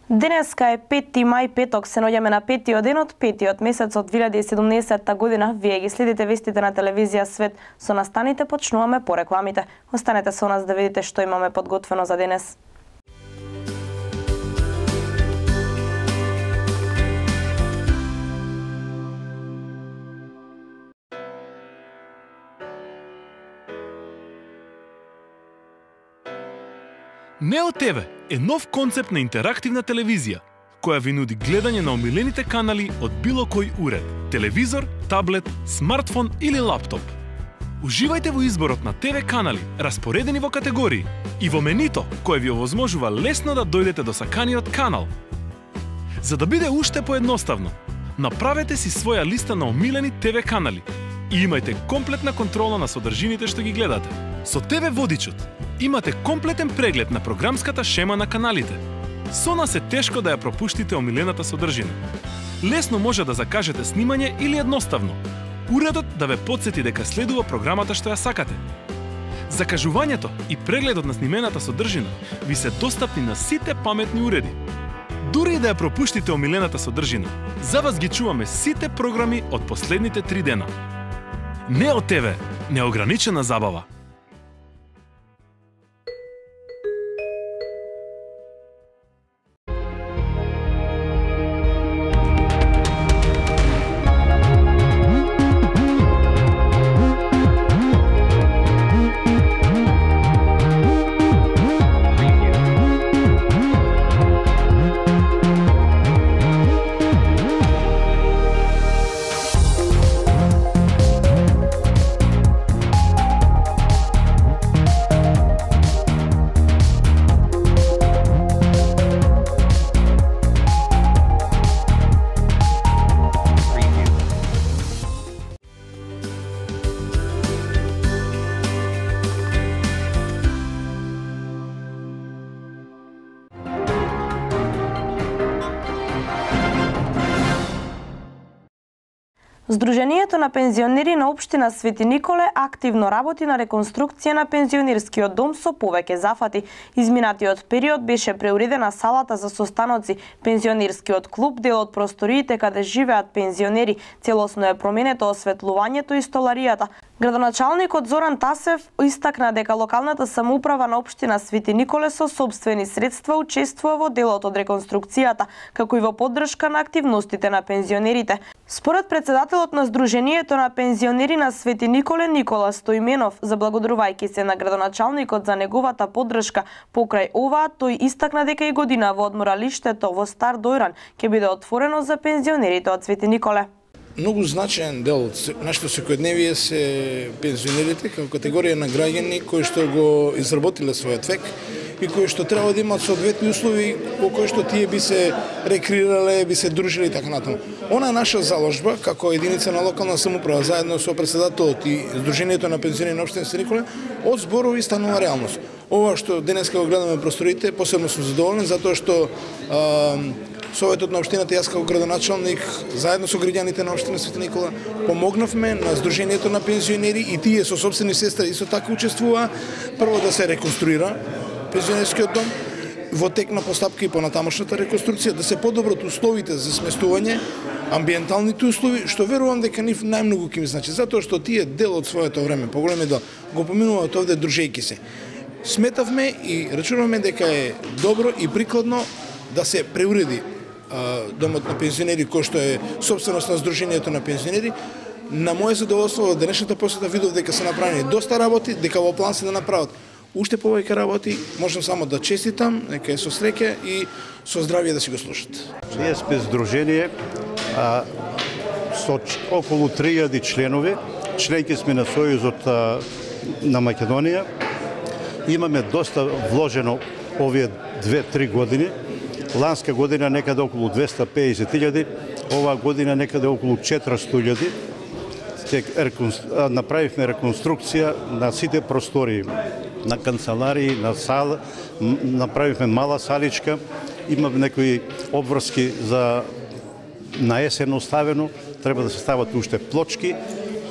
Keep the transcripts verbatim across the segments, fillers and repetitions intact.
Денеска е пети мај, петок, се наоѓаме на петиот ден од петиот месец од две илјади и седумнаесетта година. Вие ги следите вестите на телевизија Свет. Со настаните почнуваме по рекламите. Останете со нас да видите што имаме подготвено за денес. Нео ТВ е нов концепт на интерактивна телевизија, која ви нуди гледање на омилените канали од било кој уред, телевизор, таблет, смартфон или лаптоп. Уживајте во изборот на ТВ канали, распоредени во категории, и во менито, кое ви овозможува лесно да дојдете до саканиот канал. За да биде уште поедноставно, направете си своја листа на омилени ТВ канали и имајте комплетна контрола на содржините што ги гледате. Со ТВ Водичот имате комплетен преглед на програмската шема на каналите. Со нас е тешко да ја пропуштите омилената содржина. Лесно може да закажете снимање или едноставно уредот да ве потсети дека следува програмата што ја сакате. Закажувањето и прегледот на снимената содржина ви се достапни на сите паметни уреди. Дури и да ја пропуштите омилената содржина, за вас ги чуваме сите програми од последните три дена. Нео ТВ, неограничена забава. Сдруженијето на пензионери на општина Свети Николе активно работи на реконструкција на пензионерскиот дом со повеќе зафати. Изминатиот период беше преуредена салата за состаноци, пензионерскиот клуб, дел од просториите каде живеат пензионери, целосно е променето осветлувањето и столаријата. Градоначалникот Зоран Тасев истакна дека локалната самоуправа на општина Свети Николе со собствени средства учествува во делот од реконструкцијата, како и во поддршка на активностите на пензионерите. Според председателот на Сдруженијето на пензионери на Свети Николе Никола Стоименов, заблагодарувајќи се на градоначалникот за неговата поддршка покрај оваа, тој истакна дека и година во одморалиштето во Стар Дојран ќе биде отворено за пензионерите од Свети Николе. Многу значаен дел од нашето секојдневие се пензионерите како категорија на граѓани кои што го изработиле својот век и кои што треба да имаат соодветни услови во кои што тие би се рекреирале, би се дружиле и така натаму. Она е наша заложба како единица на локална самоуправа заедно со председателот и Сдруженијето на пензионери на општина Свети Николе од зборови станува реалност. Ова што денеска го гледаме просторите, посебно сум задоволен затоа што а, Советот на општината, јас како градоначалник, заедно со граѓаните на општина Свети Никола, помогнавме на Сдруженијето на пензионери и тие со собствени средства исто така учествуваа прво да се реконструира пензионерскиот дом, во тек на постапка и понатамошната реконструкција, да се подобрат условите за сместување, амбиенталните услови, што верувам дека нив најмногу ќе ми значи, затоа што тие дел од своето време, поголеми дел, го поминуваат овде дружејки се. Сметавме и рачунавме дека е добро и прикладно да се преуреди домот на пензионери, кој што е собственост на Сдруженијето на пензионери. На моје задоволство во денешната посета видов дека се направени доста работи, дека во план се да направат уште повеќе работи. Можам само да честитам, дека е со среќа и со здравје да си го слушат. Ние сме здружение а, со околу три илјади членови, членки сме на Сојузот а, на Македонија. Имаме доста вложено овие две-три години. Ланска година некаде околу двесте и педесет илјади, оваа година некаде околу четиристотини илјади. Направивме реконструкција на сите простории, на канцеларии, на сала, направивме мала саличка, имаме некои обврски за на есен оставено, треба да се стават уште плочки,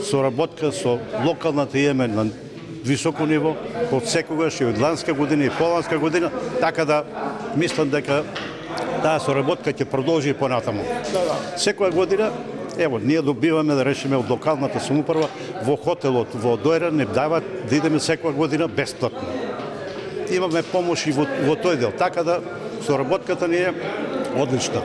соработка со локалната имаме на високо ниво, од секогаш и од ланска година и поланска година, така да мислам дека таа соработка ќе продолжи и понатаму. Да, да. Секоја година, ево, ние добиваме да речеме од локалната самоуправа во хотелот во Дојран не дават да идеме секоја година бесплатно. Имаме помош и во, во тој дел, така да соработката ни е одлична.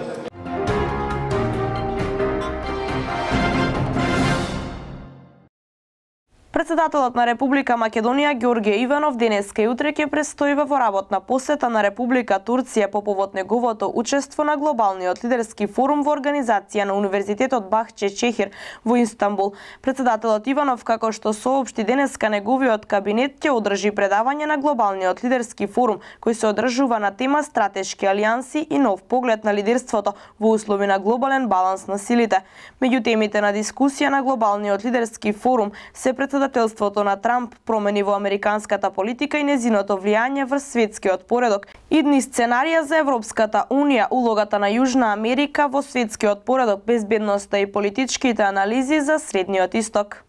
Председателот на Република Македонија Ѓорѓе Иванов денеска и утре ќе престојува во работна посета на Република Турција по повод неговото учество на глобалниот лидерски форум во организација на Универзитетот Бахче Чехир во Истанбул. Председателот Иванов, како што соопшти денеска, неговиот кабинет ќе одржи предавање на глобалниот лидерски форум кој се одржува на тема стратешки алијанси и нов поглед на лидерството во услови на глобален баланс на силите. Меѓу темите на дискусија на глобалниот лидерски форум се председателството на Трамп, промени во американската политика и незиното влијање врз светскиот поредок, идни сценарија за Европската унија, улогата на Јужна Америка во светскиот поредок, безбедноста и политичките анализи за Средниот Исток.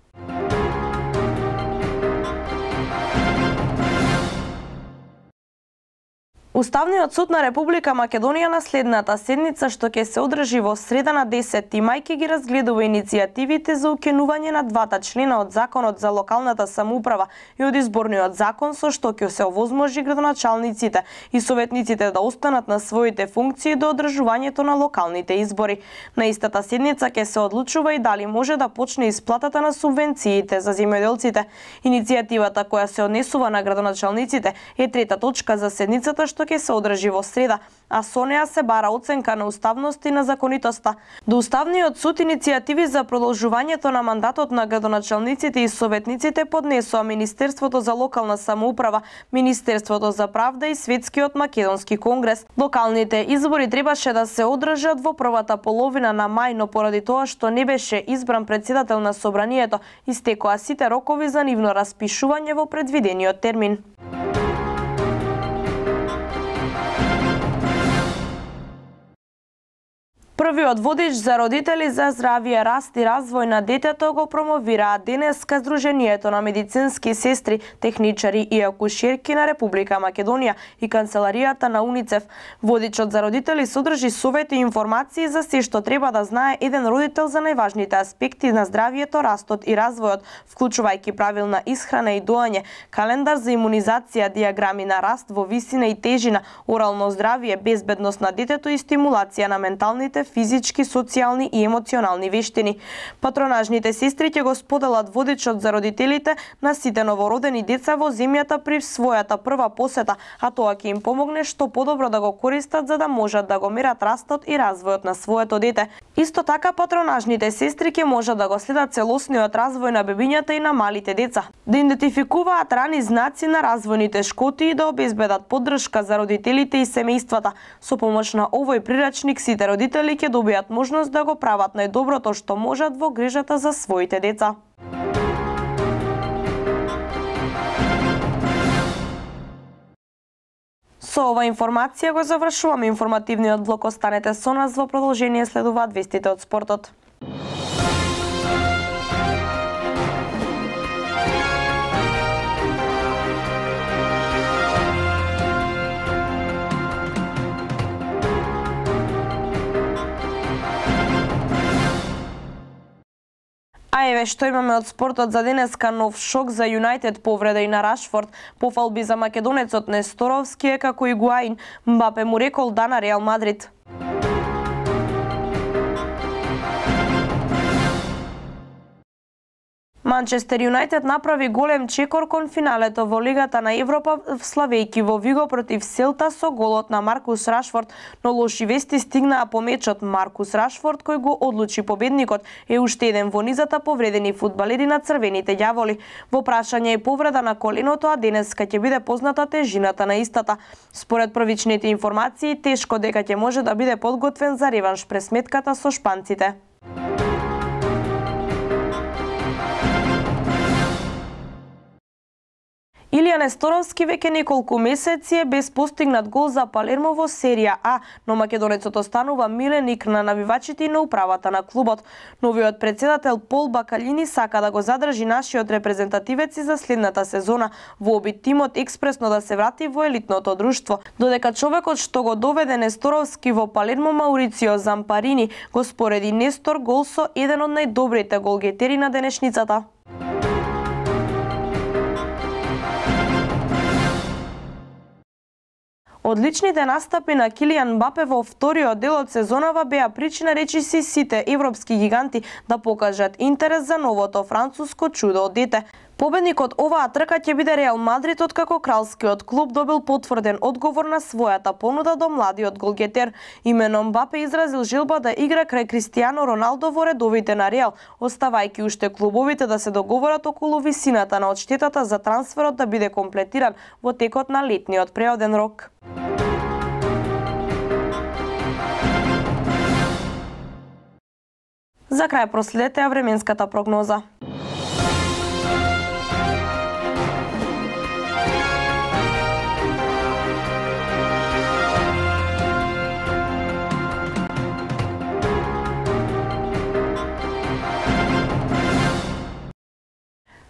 Уставниот суд на Република Македонија на следната седница, што ќе се одржи во среда на десети мај, ќе ги разгледува иницијативите за укинување на двата члена од Законот за локалната самоуправа и од Изборниот закон, со што ќе се овозможи градоначалниците и советниците да останат на своите функции до одржувањето на локалните избори. На истата седница ќе се одлучува и дали може да почне исплатата на субвенциите за земјоделците. Иницијативата која се однесува на градоначалниците е трета точка за седницата, што ќе се одржи во среда, а со неа се бара оценка на уставност и на законитоста. До Уставниот суд иницијативи за продолжувањето на мандатот на градоначалниците и советниците поднесоа Министерството за локална самоуправа, Министерството за правда и Светскиот македонски конгрес. Локалните избори требаше да се одржат во првата половина на мај, но поради тоа што не беше избран председател на собранието, истекоа сите рокови за нивно распишување во предвидениот термин. Првиот водич за родители за здравје, раст и развој на детето го промовираа денеска Сдруженијето на медицински сестри, техничари и акушерки на Република Македонија и канцеларијата на УНИЦЕФ. Водичот за родители содржи совети и информации за се што треба да знае еден родител за најважните аспекти на здравјето, растот и развојот, вклучувајќи правилна исхрана и доање, календар за имунизација, диаграми на раст во висина и тежина, орално здравје, безбедност на детето и стимулација на менталните, физички, социјални и емоционални вештини. Патронажните сестри ќе го споделат водичот за родителите на сите новородени деца во земјата при својата прва посета, а тоа ќе им помогне што подобро да го користат за да можат да го мерат растот и развојот на своето дете. Исто така патронажните сестри ќе можат да го следат целосниот развој на бебињата и на малите деца, да идентификуваат рани знаци на развојните шкоти и да обезбедат поддршка за родителите и семејствата. Со помош на овој прирачник сите родители ќе добијат можност да го прават најдоброто што можат во грижата за своите деца. Со ова информација го завршуваме информативниот блок. Останете со нас, во продолжение следуваат вестите од спортот. А еве што имаме од спортот за денеска. Нов шок за Юнајтед, повреда и на Рашфорд, пофалби за македонецот Несторовски е како Игуаин. Мбапе му рекол да на Реал Мадрид. Манчестер Юнајтед направи голем чекор кон финалето во Лигата на Европа, славејќи во Виго против Селта со голот на Маркус Рашфорд, но лоши вести стигнаа по мечот. Маркус Рашфорд, кој го одлучи победникот, е уште еден во низата повредени фудбалери на црвените ѓаволи. Во прашање е повреда на коленото, а денеска ќе биде позната тежината на истата. Според првичните информации, тешко дека ќе може да биде подготвен за реванш пред сметката со шпанците. Илија Несторовски веќе неколку месеци е без постигнат гол за Палермо во серија А, но македонецот останува миленик на навивачите и на управата на клубот. Новиот претседател Пол Бакалини сака да го задржи нашиот репрезентативец и за следната сезона, во обид тимот експресно да се врати во елитното друштво. Додека човекот што го доведе Несторовски во Палермо, Маурицио Зампарини, го спореди Нестор гол со еден од најдобрите голгетери на денешницата. Одличните настапи на Килијан Мбапе во вториот дел од сезонава беа причина речиси сите европски гиганти да покажат интерес за новото француско чудо од дете. Победникот оваа трка ќе биде Реал Мадрид, откако кралскиот клуб добил потврден одговор на својата понуда до младиот голгетер. Имено Мбапе изразил желба да игра крај Кристијано Роналдо во редовите на Реал, оставајќи уште клубовите да се договорат околу висината на одштетата за трансферот да биде комплетиран во текот на летниот преоден рок. За крај проследете ја временската прогноза.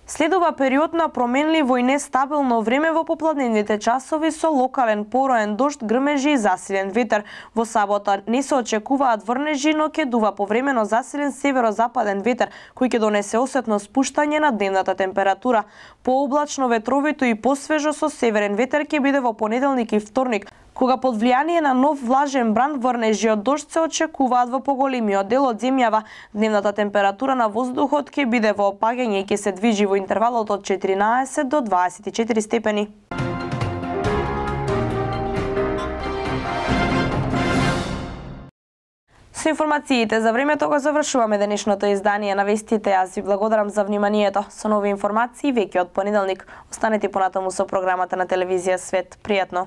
Следува период на променливо и нестабилно време во попладневните часови со локален пороен дожд, грмежи и засилен ветер. Во сабота не се очекуваат врнежи, но ќе дува повремено засилен северозападен ветер, кој ќе донесе осетно спуштање на дневната температура. Пооблачно, ветровито и посвежо со северен ветер ќе биде во понеделник и вторник, кога под влијание на нов влажен бран врнежи од дожд се очекуваат во поголемиот дел од земјава. Дневната температура на воздухот ќе биде во опаѓање и ќе се движи во интервалот од четиринаесет до дваесет и четири степени. Со информациите за времето го завршуваме денешното издание на вестите. Јас ви благодарам за вниманието. Со нови информации веќе од понеделник. Останете понатаму со програмата на телевизија Свет. Пријатно!